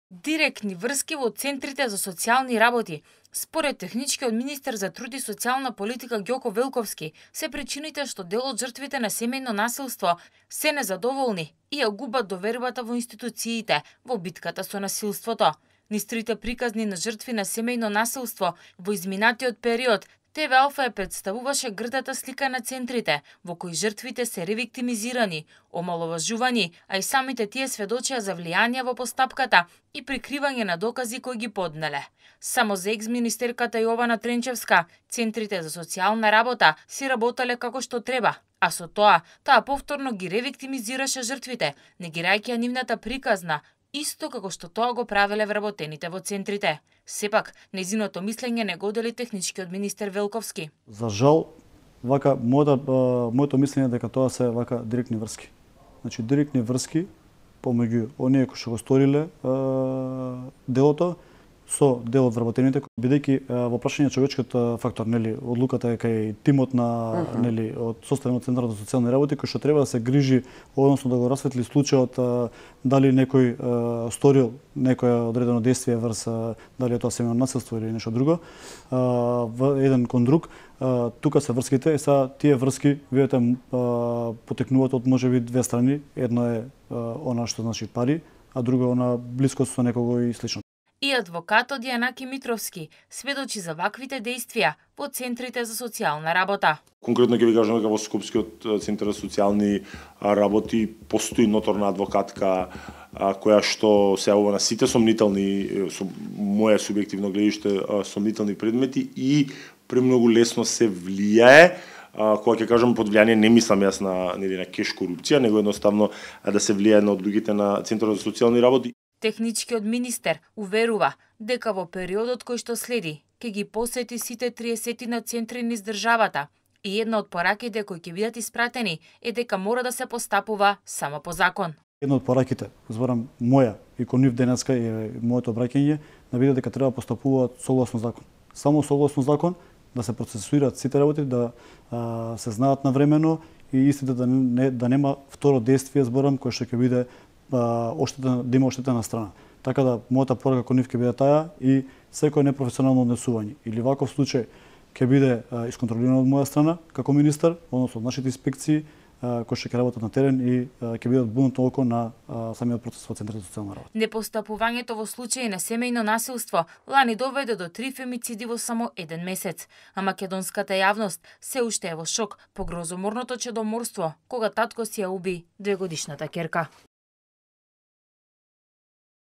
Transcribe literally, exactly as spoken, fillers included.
Директни врски во центрите за социјални работи. Според техничкиот министер за труд и социјална политика Ѓоко Велковски, се причините што дел од жртвите на семејно насилство се незадоволни и ја губат довербата во институциите во битката со насилството. Низ трите приказни на жртви на семејно насилство во изминатиот период, Те Ве Алфа ја представуваше грдата слика на центрите, во кои жртвите се ревиктимизирани, омаловажувани, а и самите тие сведочија за влијание во постапката и прикривање на докази кои ги поднеле. Само за екс-министерката Јована Тренчевска, центрите за социјална работа си работеле како што треба, а со тоа, таа повторно ги ревиктимизираше жртвите, негирајќи ја нивната приказна, исто како што тоа го правеле вработените во центрите. Сепак, незиното мислење не го дели техничкиот министер Велковски. За жал, вака моето моето мислење дека тоа се вака директни врски. Значи директни врски помеѓу оние кои што го сториле делото со дел од вработените, бидејќи во прашање човечкиот фактор, нели, одлуката е кај тимот на uh -huh. нели од составен од Центарот за социјални работи кој што треба да се грижи, односно да го расветли случајот дали некој сторил некое одредено действие врз дали е тоа семејно насилство или нешто друго, во еден кон друг. Тука се врските, и са тие врски видите потекнуваат од можеби две страни. Едно е она што значи пари, а друго е она блискост со некого и слично. И адвокатот Јанаки Митровски сведочи за ваквите действија во центрите за социјална работа. Конкретно ќе ви кажам дека во Скопскиот центар за социјални работи постои ноторна адвокатка која што се јавува на сите сомнителни, со моје субјективно гледиште, сомнителни предмети и премногу лесно се влијае. Кога ќе кажам под влијание, не мислам јас на нели на кеш корупција, него едноставно да се влијае на од луѓето на Центарот за социјални работи. Техничкиот министер уверува дека во периодот кој што следи ќе ги посети сите триесет на центри низ државата и една од пораките кои ќе бидат испратени е дека мора да се постапува само по закон. Една од пораките, зборам моја и кон нив денеска е моето обраќање, да биде дека треба постапуваат согласно закон. Само согласно закон да се процесуираат сите работи, да а, се знаат навремено и истите да не да нема второ действие, зборам, кој што ќе биде оштета, да има оштетена страна. Така да мојата порака кон нив ќе биде таа и секој непрофесионално однесување или ваков случај ќе биде исконтролирано од моја страна како министер, односно од нашите инспекции кои ќе работат на терен и ќе бидат будното око на самиот процес во Центарот за социјална работа. Непостапувањето во случаи на семејно насилство лани доведе до три фемициди во само еден месец, а македонската јавност се уште е во шок по грозоморното чедоморство кога татко си ја уби двегодишната ќерка.